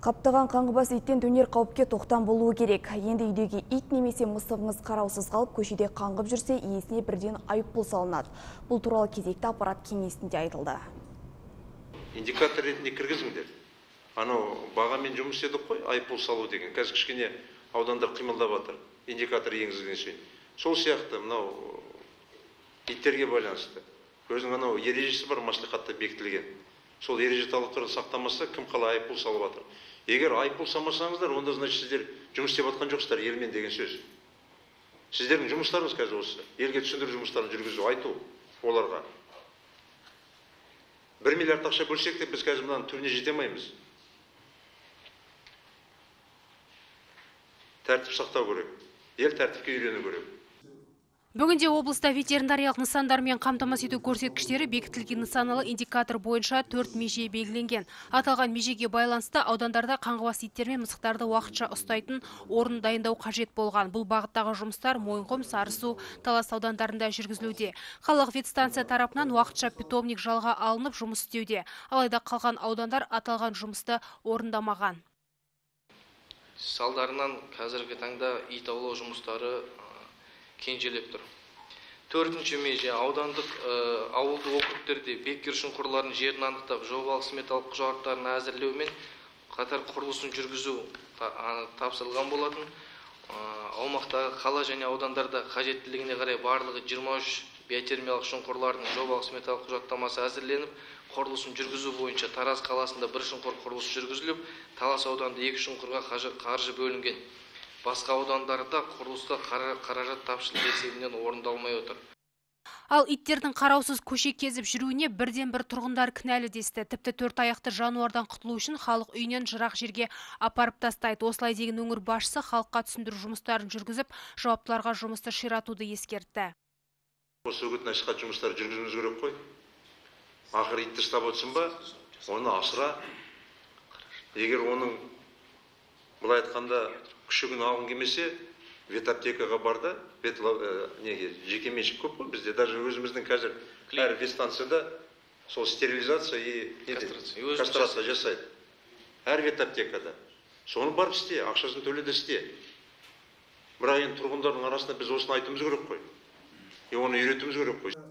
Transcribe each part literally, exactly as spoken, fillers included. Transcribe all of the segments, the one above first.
Қаптаған қаңғыбас иттен төнер қауіпке тоқтам болуы керек. Енді үйдегі ит немесе мысығыңыз қараусыз қалып, көшеде қаңғып жүрсе, иесіне бірден айыппұл салынады. Бұл туралы кезекті аппарат кеңесінде айтылды. Индикатор ретінде кіргізіңдер. Анау бағамен жұмыс істедік қой, айыппұл салу деген. Қазір кішкене аудандар қимылдап жатыр. Индикатор енгізілген соң. Сол сияқты мынау иттерге байланысты. Өзінің анау ережесі бар, маслихатта бекітілген. Сол ереже талаптарын сақтамаса, кім қалай айыппұл салып жатыр. Егер айыппұл салмасаңыздар, онда значит сіздер жұмыс істеп жатқан жоқсыздар елмен деген сөз. Сіздердің жұмыстарыңыз қазір осы. Елге түсіндіру жұмыстарын жүргізу, айту оларға. бір миллиард ақша бөлсек те біз қазір мынаның түбіне жете алмаймыз. Тәртіп сақтау керек. Ел тәртіпке үйрену керек. Бүгінде облыста ветеринариялық нысандармен қамтамасыз ету көрсеткіштері бекітілген нысаналы индикатор бойынша төрт меже белгіленген. Аталған межеге байланысты аудандарда қаңғыбас иттер мен мысықтарды уақытша ұстайтын орын дайындау қажет болған. Бұл бағыттағы жұмыстар Мойынқұм, Сарысу, Талас аудандарында жүргізілуде. Қалалық ветстанция тарапынан уақытша питомник жалға алынып жұмыс істеуде. Алайда қалған аудандар аталған жұмысты орындамаған. Салдарынан қазіргі таңда ит аулау жұмыстары кенжелеп тұр. Төртінші меже аудандық ауылды округтерде беккер шұңқырлардың жерін анықтап, жобалық сметалық құжаттарын әзірлеумен қатар құрылысын жүргізу тапсырылған болатын. Аумақтағы қала және аудандарда қажеттілігіне қарай барлығы жиырма үш биотермиялық шұңқырлардың жобалық сметалық құжаттамасы әзірленіп, құрылысын жүргізу бойынша Тараз қаласында бір шұңқыр құрылысы жүргізіліп, Талас ауданында екі шұңқырға қаржы бөлінген. Басқа аудандарда құрылыста қаражат тапшылық есебінен орындалмай отыр. Ал иттердің қараусыз көше кезіп жүруіне бірден бір тұрғындар кінәлі десті. Тіпті төрт аяқты жануардан құтылу үшін халық үйінен жырақ жерге апарып тастайды. Осылай деген өңір басшысы халыққа түсіндіру жұмыстарын жүргізіп, жауаптыларға жұмысты ширатуды ескертті. Осы үгіт насихат жұмыстары жүргізуіміз керек қой. Ақыры итті ұстап отырсын ба, оны асыра. Егер оның былай айтқанда күшігін алғың келмесе, ветаптекаға барда, неге жекеменшік көп қой бізде, даже өзіміздің қазір әр ветстанцияда сол стерилизация и кастрация жасайды. Әр ветаптекада. Соны барып істе, ақшасын төледі істе. Бірақ енді тұрғындардың арасында біз осыны айтуымыз керек қой. И оны үйретуіміз керек қой.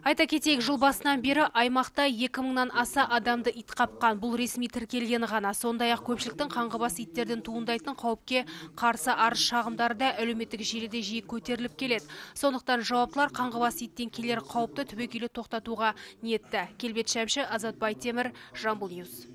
Айта кетейік, жыл басынан бері аймақта екі мыңнан аса адамды ит қапқан. Бұл ресми тіркелгені ғана. Сондай-ақ көпшіліктің қаңғыбас иттерден туындайтын қауіпке қарсы арыз шағымдары да әлеуметтік желіде жиі көтеріліп келеді. Сондықтан жауаптылар қаңғыбас иттен келер қауіпті түбегейлі тоқтатуға ниетті. Келбет Шәмші, Азат Байтемір, Жамбыл Ньюс.